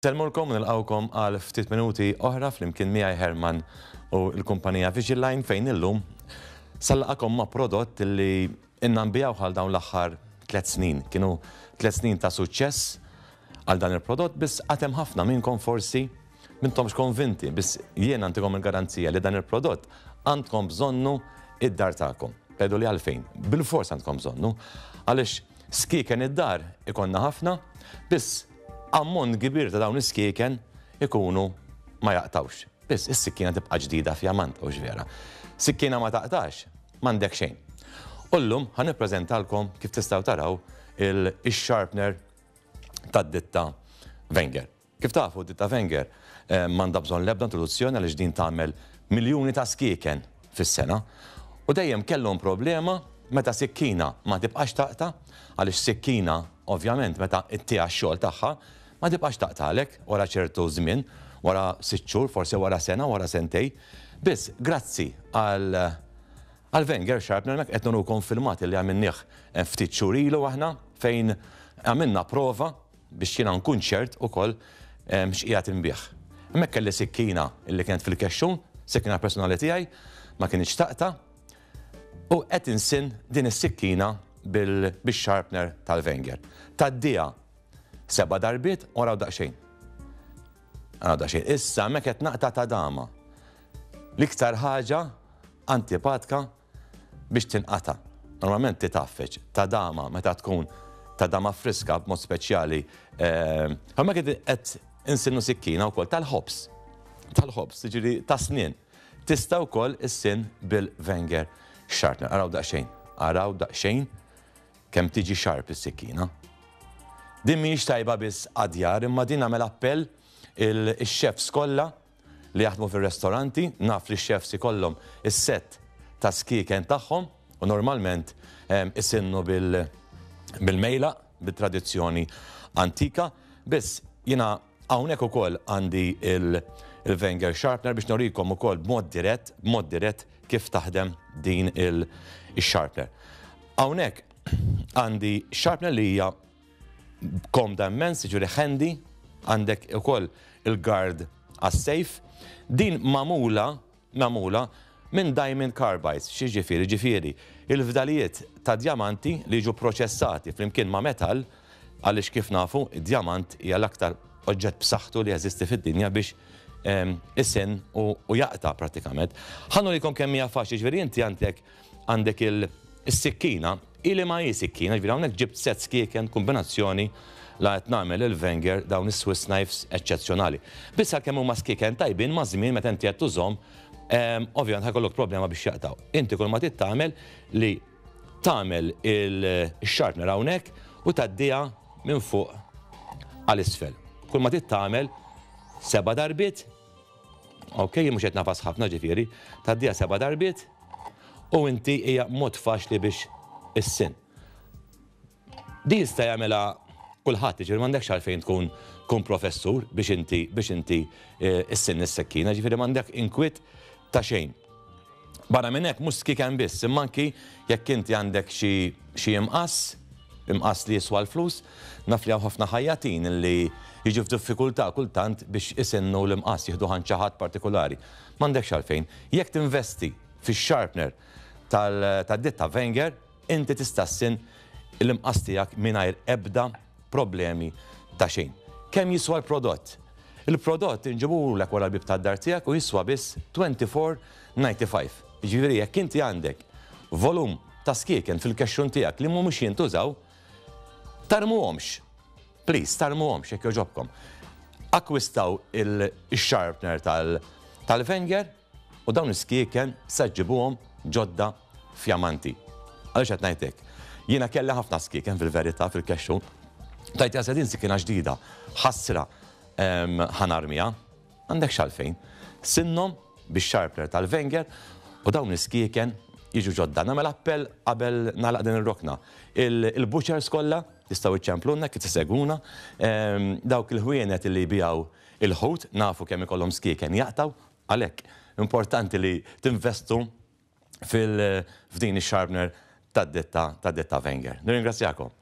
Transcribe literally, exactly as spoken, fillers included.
Insellmulkom u nilqgħukom għal ftit minuti oħra flimkien miegħi Herman u l-kumpanija Vision Line, fejn illum se nlaqqagħkom ma' prodott li ilna nbigħu għal dawn l-aħħar tliet snin. Kienu tliet snin ta' suċċess għal dan il-prodott, biss għad hemm ħafna minnkom forsi m'intomx konvinti, biss jiena ntikom il-garanzija li dan il-prodott għandkom bżonnu id-dar tagħkom. Tgħidu li għalfejn? Bil-fors għandkom bżonnu, għaliex skieken id-dar ikollna ħafna, biss ammont kbir ta' dawn is-skieken ikunu ma jaqtawx. Biss is-sikkina tibqa' ġdida fjamant, u vera. Sikkina ma taqtax, m'għandek xejn. U llum ħa nippreżentalkom, kif tistgħu taraw, il-sharpener tad-ditta Wenger. Kif tafu, ditta Wenger eh, m'għandha bżonn l-ebda introduzzjoni, għaliex din tagħmel miljuni ta' skieken fis-sena. U dejjem kellhom problema meta sikkina ma tibqax taqta', għaliex sikkina ovvjament meta ittiha x-xogħol tagħha ma tibqax taqtalek wara ċertu żmien, wara sitt xhur, forsi wara sena, wara sentejn. Biss grazzi għal għal Wenger Sharpener, mek qed nurukom filmat li għamilnieh eh, ftit xhur ilu aħna, fejn għamilna prova biex jiena nkun ċert ukoll eh, x'qiegħed inbigħ. Hemmhekk kelli sikkina illi kienet fil-kexxun, sikkina personali tiegħi, ma kienx taqta', u qed insinn din is-sikkina bil-sharpener tal-Wenger. Tgħaddiha seba' darbiet u araw daqsxejn. Araw daqsxejn. Issa hemmhekk qed naqta' tadama. L-iktar ħaġa antipatka biex tinqata'. Normalment titgħaffeġ, tadama meta tkun tadama friska b'mod speċjali. Hemmhekk qed insinnu sikkina wkoll tal-ħobż. Tal-ħobż, jiġifieri ta' snien. Tista' wkoll issinn bil-Wenger Sharpener. Araw daqsxejn, araw daqsxejn kemm tiġi sharp is-sikkina. Din mhijiex tajba biss għad-djar, imma din nagħmel appell il-chefs kollha li jaħdmu fir-restoranti. Naf li x-chefs ikollhom is-set ta' skieken tagħhom u normalment isinnu bil-mejla, bil-tradizzjoni antika, biss jiena hawnhekk ukoll għandi il-Wenger Sharpener biex norikom ukoll b'mod dirett, b'mod dirett kif taħdem din il-sharpener. Hawnhekk għandi sharpener li hija komda immens, ġifieri handy, għandek ukoll il-guard għas-safe. Din magħmula, magħmula minn diamond carbides, x'jiġifieri? Ġifieri, il-fdalijiet ta' diamanti li ġu proċessati flimkien ma' metal, għaliex kif nafu, id-diamant hija l-aktar oġġett b'saħħtu li jeżisti fid-dinja biex isinn u jaqta' pratikament. Ħa nurikom kemm hija faċli, ġifieri inti għandek għandek il-sikkina, ili ma hi sikkina, ġifieri hawnhekk ġibt set skieken kombinazzjoni la qed nagħmel il-Wenger, dawn is-Swiss knives eċċezzjonali. Biss għalkemm huma skieken tajbin, ma' żmien meta inti qed tużhom, ovvjament ħa jkollok problema biex jaqtaw. Inti kull ma trid tagħmel li tagħmel il-sharpener hawnhekk u tgħaddiha minn fuq għal isfel. Kull ma trid tagħmel seba' darbiet, ok, jien mhux qed nagħfas ħafna ġifieri, tgħaddiha seba' darbiet u inti hija mod faċli biex issinn. Di jista' jagħmilha kulħadd, ġifieri m'għandekx għalfejn tkun kun professur biex inti biex inti eh, issinn is-sekkina, ġifieri m'għandek inkwiet ta' xejn. Barra minn hekk mhux skieken biss, imma anki jekk inti għandek xi xi imqass, imqass li jiswa l-flus, naf li hawn ħafna ħajjatin li jiġu f'diffikultà kultant biex isinnu l-imqass, jieħdu ħadd ħadd partikolari. M'għandekx għalfejn. Jekk tinvesti fix-sharpener tad-ditta Wenger, inti tista' ssinn l-imqass tiegħek mingħajr ebda problemi ta' xejn. Kemm jiswa l-prodott? Il-prodott inġibulek wara l-bib tad-dar tiegħek u jiswa biss twenty-four ninety-five. Ġifieri jekk inti għandek volum ta' skieken fil-kexxun tiegħek li mhumiex jintużaw, tarmuhomx. Please, tarmuhomx jekk jogħġobkom. Akkwistaw il-sharpener tal-Wenger u dawn is-skieken sa ġġibuhom ġodda fjamanti. Għaliex qed ngħidlek? Jiena kelli ħafna skieken fil-verità fil-kexxun. Tajt jasa din sikkina ġdida, ħasra ħa narmiha, għandek xalfejn. Sinnhom bix-sharpener tal-Wenger u dawn is-skieken jiġu ġodda. Nagħmel appell qabel nagħlaq din ir-rokna. Il-butchers kollha tistgħu iċċemplunna kif tisegwuna, dawk il-ħwienet li jbigħu il-ħut, nafu kemm ikollhom skieken jaqtaw, għalhekk importanti li tinvestu fil-f'din ix-sharpener tad-ditta tad-ditta Wenger. Nirringrazzjakom.